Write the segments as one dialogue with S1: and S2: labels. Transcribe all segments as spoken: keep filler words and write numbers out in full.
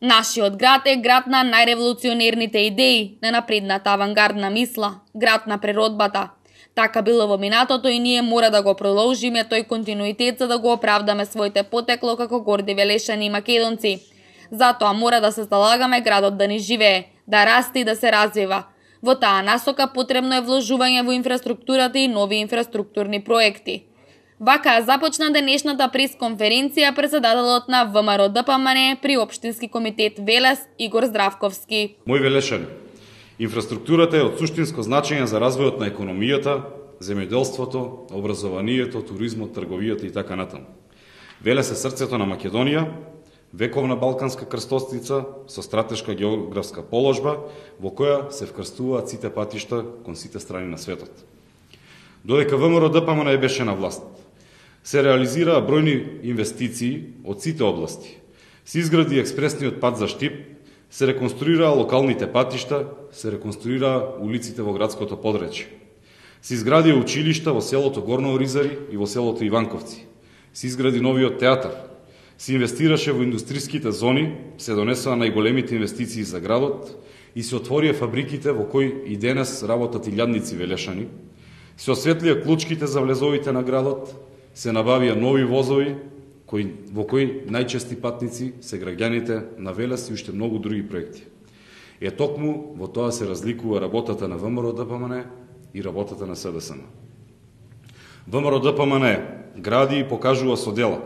S1: Нашиот град е град на најреволуционерните идеи, на напредната авангардна мисла, град на природбата. Така било во минатото и ние мора да го продолжиме тој континуитет за да го оправдаме своите потекло како горди велешани и македонци. Затоа мора да се залагаме градот да ни живее, да расте и да се развива. Во таа насока потребно е вложување во инфраструктурата и нови инфраструктурни проекти. Вака започна денешната пресконференција председателот на ВМРО-ДПМН при Општински комитет Велес Игор Здравковски.
S2: Мој велешани, инфраструктурата е од суштинско значење за развојот на економијата, земјоделството, образованието, туризмот, трговијата и така натаму. Велес е срцето на Македонија, вековна балканска крстосница со стратешка географска положба во која се вкрстуваат сите патишта кон сите страни на светот. Додека ВМРО-ДПМН беше на власт, се реализираа бројни инвестиции од сите области. Се изгради експресниот пат за Штип, се реконструираа локалните патишта, се реконструираа улиците во градското подречје. Се изгради училишта во селото Горно Оризари и во селото Иванковци. Се изгради новиот театар. Се инвестираше во индустријските зони, се донесоа најголемите инвестиции за градот и се отворија фабриките во кои и денес работат илјадници велешани. Се осветлија клучките за влезовите на градот, се набавија нови возови, кои, во кои најчести патници се граѓаните на Велес и уште многу други проекти. Е токму во тоа се разликува работата на ВМРО-ДПМН и работата на СДСМ. ВМРО-ДПМН гради и покажува со дела,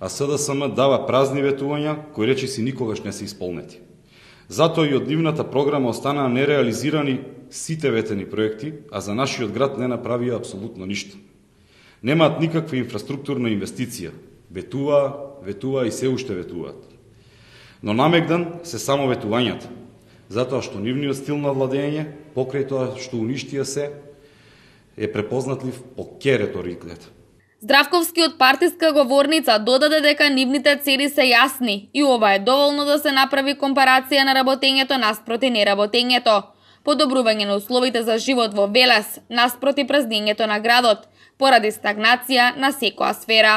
S2: а СДСМ дава празни ветувања кои речиси никогаш не се исполнети. Затоа и од нивната програма останаа нереализирани сите ветени проекти, а за нашиот град не направија апсолутно ништо. Немаат никаква инфраструктурна инвестиција. Ветуваа, ветуваа и се уште ветуваат. Но намегдан се само ветувањата, затоа што нивниот стил на владење, покрај тоа што уништија се, е препознатлив по ке реториката.
S1: Здравковски од партиска говорница додаде дека нивните цели се јасни и ова е доволно да се направи компарација на работењето наспроти неработењето, подобрување на условите за живот во Велес наспроти празнењето на градот, поради стагнација на секоја сфера.